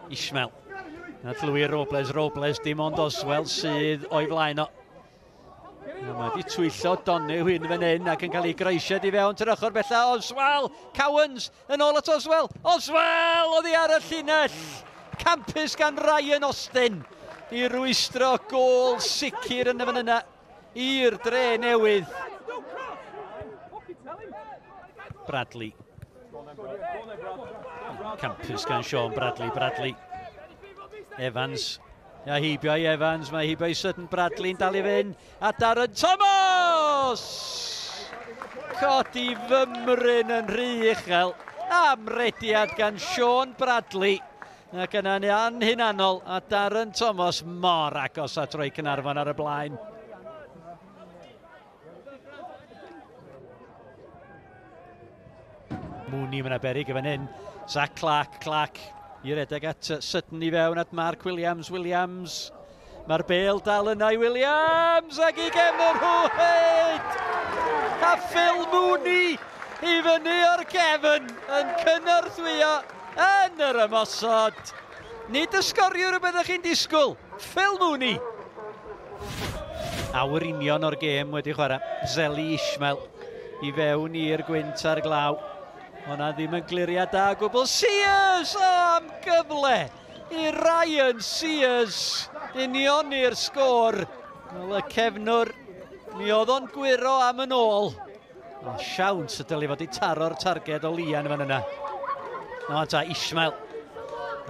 Ishmael. At Louis Robles, Robles dim ond Oswell sydd o'i flaen o. Mae wedi twyllo Donny hyn fan hyn ac yn cael ei groesiad i fewn ty'r ochr bella. Oswell, Cowans yn ôl at Oswell. Oswell oddi ar y llinell. Campus gan Ryan Austin i rwystro gôl sicr yn y fan yna i'r dre newydd. Bradley. Campus gan Sean Bradley. Bradley. Evans. Ia heibio i Evans, mae heibio i Sutton. Bradley'n dal i fynd. A Darren Thomas! Codi fymryn yn rhy uchel. Amrediad gan Sean Bradley. Ac yna'n anhunanol. A Darren Thomas mor agos at roi Caernarfon ar y blaen. Mooney, mae'n beryg fan hyn. Zach Clark, Clark i redeg at Sutton i fewn at Mark Williams, Williams. Mae'r bêl dal yna i Williams ac i gefn yr rhwyd! A Phil Mooney i fyny o'r gefn yn cynorthwyo yn yr ymosod. Nid y sgoriwr y byddwch chi'n disgwyl, Phil Mooney. Awr union o'r gêm wedi chwarae. Zeli Ishmael i fewn i'r gwynt a'r glaw. Hwna ddim yn gliriad da o gwbl. Sears! O, am gyfle i Ryan Sears unioni'r sgôr. Wel, y cefnwr, mi oedd o'n gwyro am yn ôl. O, siawns y dylai fod i taro'r targed o Lian fan yna. O, ta, Ishmael.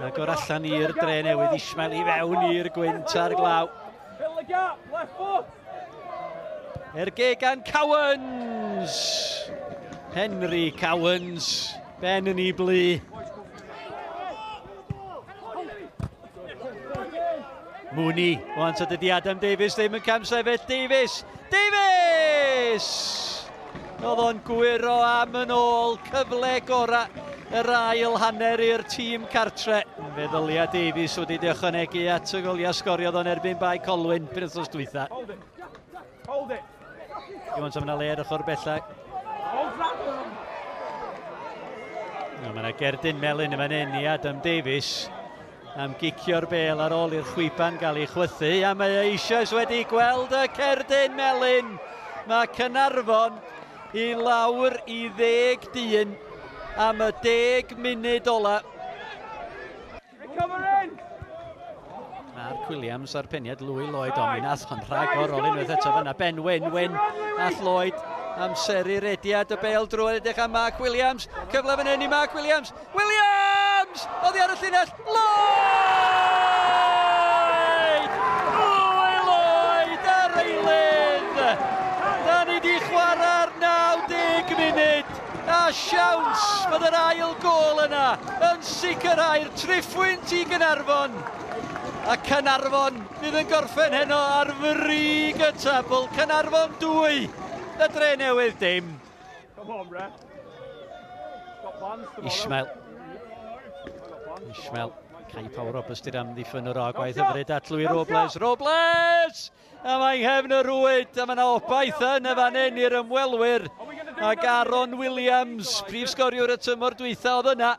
Agor allan i'r dre newydd. Ishmael i fewn i'r gwynt a'r glaw. Erge gan Cowans. Henry Cowans, ben yn ei blu. Mooney, wan ta dydy Adam Davies ddim yn camsefyll. Davies, Davies! Oedd o'n gwyro am yn ôl, cyfle gorau yr ail hanner i'r tîm cartre. Fe ddylia Davies wedi ychwanegu at y goliau sgoriodd o'n erbyn Bae Colwyn penwythnos dwytha. Hold it. Hold it. Dim ond yna le ar ochr bella. No, mae yna gerdyn melyn yma'n hyn i Adam Davies am gicio'r bêl ar ôl i'r chwiban gael ei chwythu, a mae eisoes wedi gweld y cerdyn melyn. Mae Caernarfon i lawr i 10 dyn am y 10 munud ola. Mark Williams a'r peniad Louis Lloyd, ond mi nath o'n rhagorol unwaith eto fyna. Ben Wyn, Wyn a Lloyd amseru rediad y bêl drwy edrych am Mark Williams. Cyfle fan hyn i Mark Williams. Williams! Oddi ar y llinell. Lloyd! Louis Lloyd ar eilydd! Da ni di chwarae'r 90 munud. A siawns fod yr ail gôl yna yn sicrhau'r triphwynt i Gaernarfon. A Caernarfon fydd yn gorffen heno ar frig y tabl. Caernarfon 2, y dre newydd dim. Come on, ref. Got plans tomorrow. Ishmael. Ishmael. Kai Power Roberts di'r amddiffyn o'r gwaith hyfryd at Louis Robles. Robles! A mae'n nghefn y rwyd, a mae yna obaith yn y fan hyn i'r ymwelwyr. Ac Aaron Williams, prif sgoriwr y tymor dwytha oedd yna.